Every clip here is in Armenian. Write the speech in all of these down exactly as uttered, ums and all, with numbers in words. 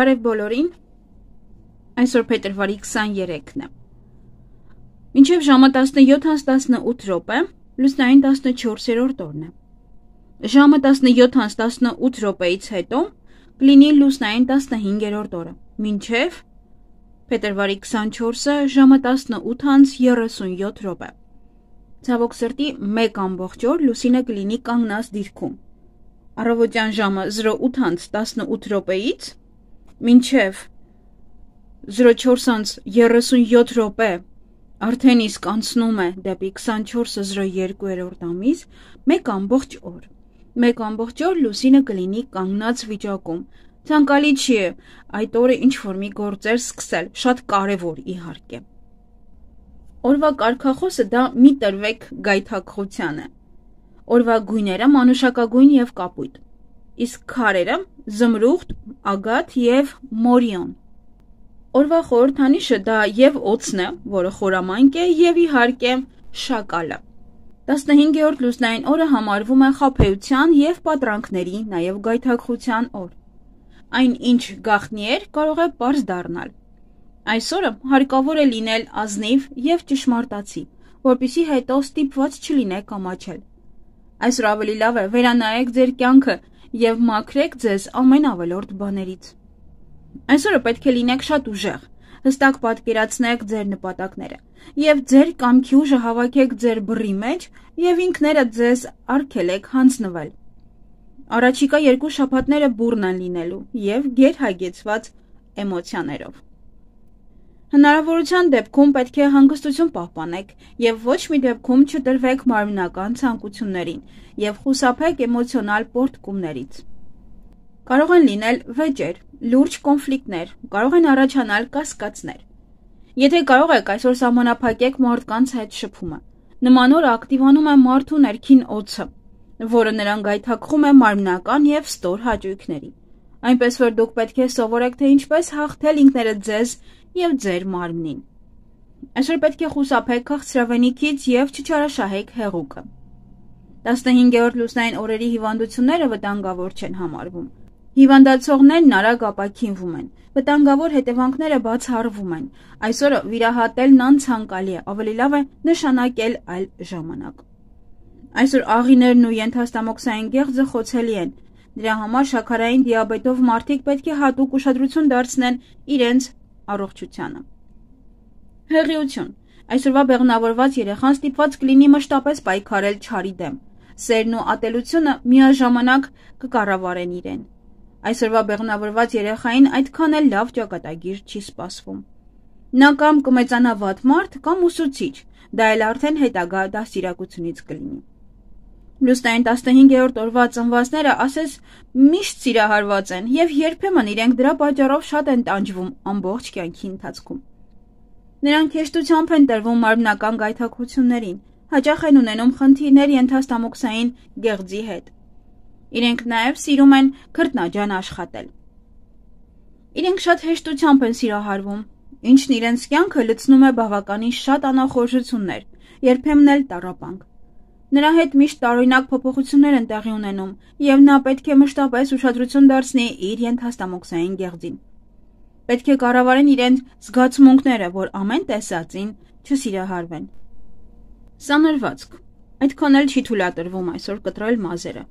Բարև բոլորին, այսօր փետրվարի քսաներեքն է, մինչև ժամը տասնյոթ անց տասնութ րոպե, լուսնային տասնչորսերորդ օրն է, ժամը տասնյոթ անց տասնութ րոպեից հետո կլինի լուսնային տասնհինգերորդ օրը, մինչև փետրվարի քսանչորսը ժամը տասնութ անց երեսունյոթ րոպե, ցավոք սրտի մեկ ամբողջ օր լուսինը կլինի կանգնած դիրքում, առավոտյան ժամը զրո ութ անց տասնութ րոպեից մինչև զրո չորս անց երեսունյոթ րոպե արդեն իսկ անցնում է դեպի քսանչորսը զրո երկու ամիս, մեկ ամբողջ օր, մեկ ամբողջ օր լուսինը կլինի կանգնած վիճակում, ցանկալի չի է այդ օրը ինչ-որ մի գործեր սկսել, շատ կարևոր իհարկե։ Օրվա կարգախոսը դա մի տրվեք գայթակղության է, օրվա գույները մանուշակագույն և կապույտ, իսկ քարերը զմրուխտ, ագաթ և մորիոն։ Օրվա խորհրդանիշը դա և օձն է, որը խորամանկ է, և իհարկե շակալը։ տասնհինգերորդ լուսնային օրը համարվում է խաբեության և պատրանքների, նաև գայթակղության օր։ Այն ինչ գաղտնի էր, կարող է պարզ դառնալ։ Այսօրը հարկավոր է լինել ազնիվ և ճշմարտացի, որպեսզի հետո ստիպված չլինեք ամաչել։ Այսօր ավելի լավ է վերանայեք ձեր կյանքը և մաքրեք ձեզ ամեն ավելորդ բաներից։ Այսօրը պետք է լինեք շատ ուժեղ, հստակ պատկերացնեք ձեր նպատակները և ձեր կամքի ուժը հավաքեք ձեր բռի մեջ և ինքներդ ձեզ արգելեք հանձնվել։ Առաջիկա երկու շաբաթները բուռն են լինելու և գերհագեցված էմոցիաներով։ Հնարավորության դեպքում պետք է հանգստություն պահպանեք և ոչ մի դեպքում չտրվեք մարմնական ցանկություններին և խուսափեք էմոցիոնալ պոռթկումներից։ Կարող են լինել վեճեր, լուրջ կոնֆլիկտներ, կարող են առաջանալ կասկածներ։ Եթե կարող եք, այսօր սահմանափակեք մարդկանց հետ շփումը։ Նման օրը ակտիվանում է մարդու ներքին օձը, որը նրան գայթակղում է մարմնական և ստոր հաճույքների։ Այնպես որ դուք պետք է սովորեք, թե ինչպես հաղթել ինքներդ ձեզ և ձեր մարմնին։ Այսօր պետք է խուսափեք քաղցրավենիքից և չչարաշահեք հեղուկը։ տասնհինգերորդ լուսնային օրերի հիվանդությունները վտանգավոր չեն համարվում։ Հիվանդացողներն արագ ապաքինվում են, վտանգավոր հետևանքները բացառվում են։ Այսօրը վիրահատելն անցանկալի է, ավելի լավ է նշանակել այլ ժամանակ։ Այսօր աղիներն ու ենթաստամոքսային գեղձը խոցելի են։ Դրա համար շաքարային դիաբետով մարդիկ պետք է հատուկ ուշադրություն դարձնեն իրենց առողջությանը։ Հղիություն։ Այսօրվա բեղմնավորված երեխան ստիպված կլինի մշտապես պայքարել չարի դեմ։ Սերն ու ատելությունը միաժամանակ կկառավարեն իրեն։ Այսօրվա բեղմնավորված երեխային այդքան էլ լավ ճակատագիր չի սպասվում։ Նա կամ կմեծանա վատ մարդ, կամ ուսուցիչ, դա էլ արդեն հետագա դաստիարակությունից կլինի։ Լուսնային տասնհինգերորդ օրվա ծնվածները ասես միշտ սիրահարված են և երբեմն իրենք դրա պատճառով շատ են տանջվում ամբողջ կյանքի ընթացքում։ Նրանք հեշտությամբ են տրվում մարմնական գայթակղություններին, հաճախ են ունենում խնդիրներ ենթաստամոքսային գեղձի հետ։ Իրենք նաև սիրում են քրտնաջան աշխատել։ Իրենք շատ հեշտությամբ են սիրահարվում, ինչն իրենց կյանքը լցնում է բավականին շատ անախորժություններ, երբեմն էլ տառապանք։ Նրա հետ միշտ տարօրինակ փոփոխություններ են տեղի ունենում, և նա պետք է մշտապես ուշադրություն դարձնի իր ենթաստամոքսային գեղձին։ Պետք է կառավարեն իրենց զգացմունքները, որ ամեն տեսածին չսիրահարվեն։ Սանրվածք։ Այդքան էլ չի թույլատրվում այսօր կտրել մազերը։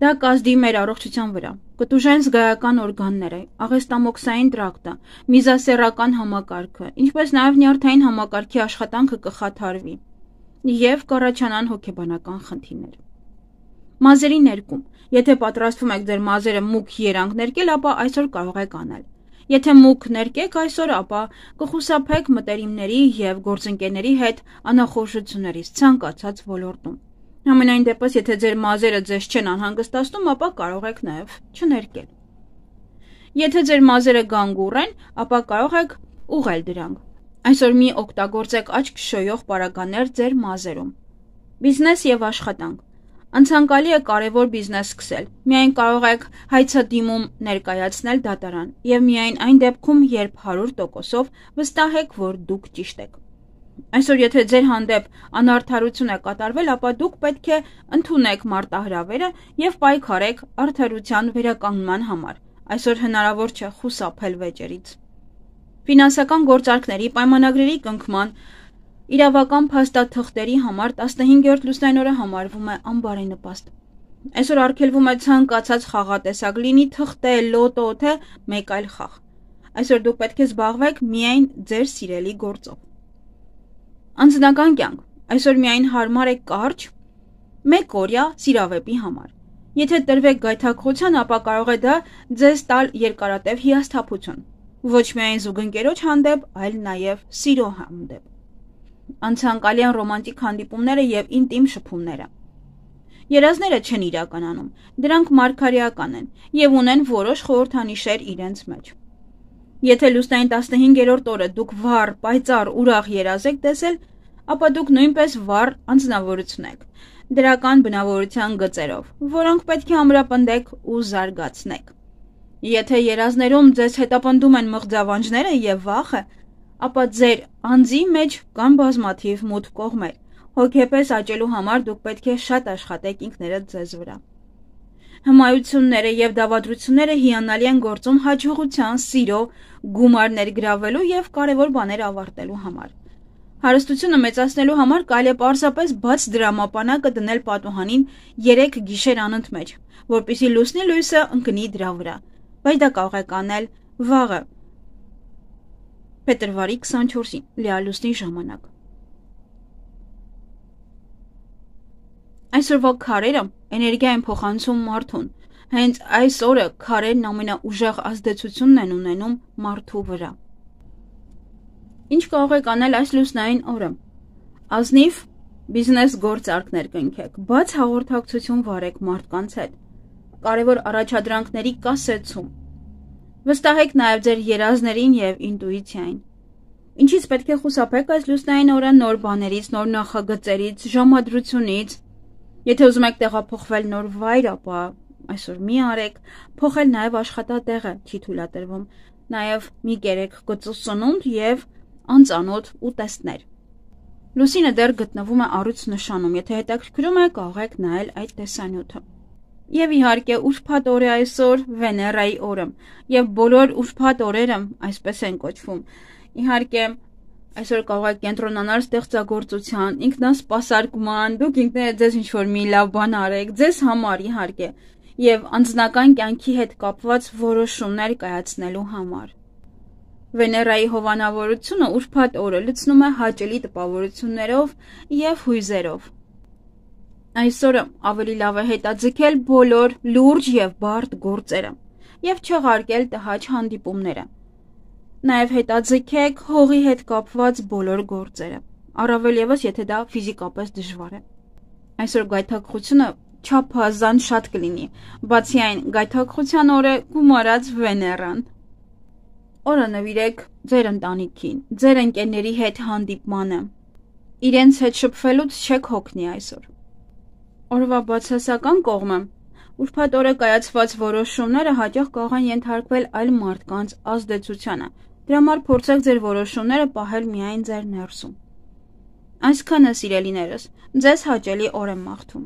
Դա կազդի մեր առողջության վրա, կտուժեն զգայական օրգանները, աղեստամոքսային տրակտը, միզասեռական համակարգը, ինչպես նաև նյարդային համակարգի աշխատանքը կխաթարվի և կառաջանան հոգեբանական խնդիրներ։ Մազերի ներկում։ Եթե պատրաստվում եք ձեր մազերը մուգ երանգ ներկել, ապա այսօր կարող եք անել։ Եթե մուգ ներկեք այսօր, ապա կխուսափեք մտերիմների և գործընկերների հետ անախորժություններից ցանկացած ոլորտում։ Համենայն դեպս, եթե ձեր մազերը ձեզ չեն անհանգստացնում, ապա կարող եք նաև չներկել։ Եթե ձեր մազերը գանգուռ են, ապա կարող եք ուղղել դրանք։ Այսօր մի օգտագործեք աչք շոյող պարագաներ ձեր մազերում։ Բիզնես և աշխատանք։ Անցանկալի է կարևոր բիզնես սկսել։ Միայն կարող եք հայցադիմում ներկայացնել դատարան և միայն այն դեպքում, երբ հարյուր տոկոսով վստահ եք, որ դուք ճիշտ եք։ Այսօր եթե ձեր հանդեպ անարդարություն է կատարվել, ապա դուք պետք է ընդունեք մարտահրավերը և պայքարեք արդարության վերականգնման համար, այսօր հնարավոր չէ խուսափել վեճերից։ Ֆինանսական գործարքների պայմանագրերի կնքման իրավական փաստաթղթերի համար տասնհինգերորդ լուսնային օրը համարվում է անբարենպաստ։ Այսօր արգելվում է ցանկացած խաղատեսակ, լինի թղթե, լոտո, թե մեկ այլ խաղ։ Այսօր դուք պետք է զբաղվեք միայն ձեր սիրելի գործով։ Անձնական կյանք այսօր միայն հարմար է կարճ մեկ օրյա սիրավեպի համար։ Եթե տրվեք գայթակղության, ապա կարող է դա ձեզ տալ երկարատև հիասթափություն, ոչ միայն զուգընկերոջ հանդեպ, այլ նաև սիրո հանդեպ։ Անցանկալի են ռոմանտիկ հանդիպումները եւ ինտիմ շփումները։ Երազները չեն իրականանում, դրանք մարգարեական են եւ ունեն որոշ խորհրդանիշեր իրենց մեջ։ Եթե լուսնային տասնհինգերորդ օրը դուք վառ, պայծառ, ուրախ երազ եք տեսել, ապա դուք նույնպես վառ անձնավորություն եք, դրական բնավորության գծերով, որոնք պետք է ամրապնդեք ու զարգացնեք։ Եթե երազներում ձեզ հետապնդում են մղձավանջները եւ վախը, ապա ձեր անձի մեջ կան բազմաթիվ մութ կողմեր։ Հոգեպես աճելու համար դուք պետք է շատ աշխատեք ինքներդ ձեզ վրա։ Հմայությունները եւ դավադրությունները հիանալի են գործում հաջողության, սիրո, գումար ներգրավելու եւ կարեւոր բաներ ավարտելու համար։ Հարստությունը մեծացնելու համար կարելի է պարզապես բաց դրամապանակը դնել պատուհանին երեք գիշեր անընդմեջ, որպեսզի լուսնի լույսը ընկնի դրա վրա, բայց դա կարող եք անել վաղը, փետրվարի քսանչորսին, լիալուսնի ժամանակ։ Այսօրվա քարերը էներգիա են փոխանցում մարդուն, հենց այս օրը քարերն ամենաուժեղ ազդեցությունն են ունենում մարդու վրա։ Ինչ կարող եք անել այս լուսնային օրը։ Ազնիվ բիզնես գործարքներ կնքեք, բաց հաղորդակցություն վարեք մարդկանց հետ, կարևոր առաջադրանքների կասեցում։ Վստահեք նաև ձեր երազներին եւ ինտուիցիային։ Ինչից պետք է խուսափեք այս լուսնային օրը նոր բաներից, նոր նախագծերից, ժամադրությունից։ Եթե ուզում եք տեղափոխվել նոր վայր, ապա այսօր մի արեք, փոխել նաև աշխատատեղը չի թույլատրվում, նաև մի կերեք գծուսնունդ եւ անծանոթ ուտեստներ։ Լուսինը դեռ գտնվում է առյուծ նշանում, եթե հետաքրքրում է, կարող եք նայել այդ տեսանյութը։ Եվ իհարկե ուրբաթ օր է այսօր Վեներայի օրը, եւ բոլոր ուրբաթ օրերը այսպես են կոչվում։ Իհարկե այսօր կարող եք կենտրոնանալ ստեղծագործության, ինքնասպասարկման, դուք ինքներդ ձեզ ինչ-որ մի լավ բան արեք, ձեզ համար իհարկե, եւ անձնական կյանքի հետ կապված որոշումներ կայացնելու համար։ Վեներայի հովանավորությունը ուրբաթ օրը լցնում է հաճելի տպավորություններով եւ հույզերով։ Այսօրը ավելի լավ է հետաձգել բոլոր լուրջ եւ բարդ գործերը եւ չեղարկել տհաճ հանդիպումները։ Նաև հետաձգեք հողի հետ կապված բոլոր գործերը, առավել ևս եթե դա ֆիզիկապես դժվար է։ Այսօր գայթակղությունը չափազանց շատ կլինի, բացի այն գայթակղության օրը գումարած Վեներան։ Օրը նվիրեք ձեր ընտանիքին, ձեր ընկերների հետ հանդիպմանը։ Իրենց հետ շփվելուց չեք հոգնի այսօր։ Օրվա բացասական կողմը ուրբաթ օրը կայացված որոշումները հաճախ կարող են ենթարկվել այլ մարդկանց ազդեցությանը։ Դրա համար փորձեք ձեր որոշումները պահել միայն ձեր ներսում։ Այսքանը, սիրելիներս, ձեզ հաճելի օր եմ մաղթում։